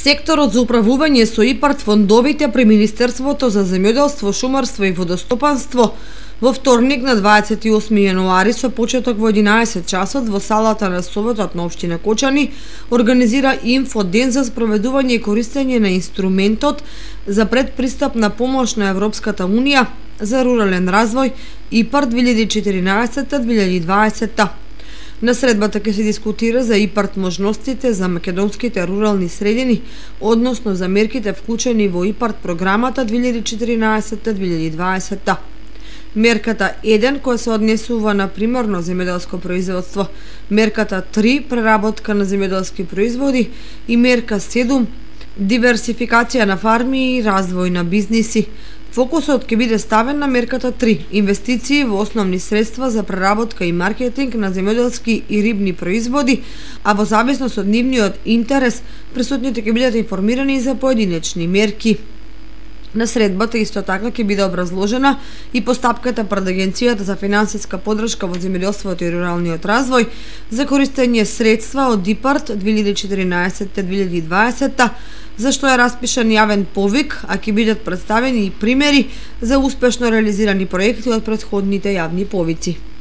Секторот за управување со ИПАРД фондовите при Министерството за земјоделство, шумарство и водостопанство во вторник на 28 јануари со почеток во 11 часот во салата на Советот на општина Кочани организира инфоден за спроведување и користење на инструментот за предпристапна помош на Европската Унија за рурален развој ИПАРД 2014-2020. На средбата ќе се дискутира за ИПАРД можностите за македонските рурални средини, односно за мерките вклучени во ИПАРД програмата 2014-2020. Мерката 1 која се однесува на примерно земјоделско производство, мерката 3 преработка на земјоделски производи и мерка 7 диверсификација на фарми и развој на бизниси. Фокусот ќе биде ставен на мерката 3 инвестиции во основни средства за преработка и маркетинг на земјоделски и рибни производи, а во зависност од нивниот интерес присутните ќе бидат информирани за поединечни мерки. На средбата исто така ќе биде образложена и постапката пред Агенцијата за финансиска поддршка во земјоделството и руралниот развој за користење средства од ИПАРД 2014-2020, за што е распишан јавен повик, а ќе бидат представени и примери за успешно реализирани проекти од претходните јавни повици.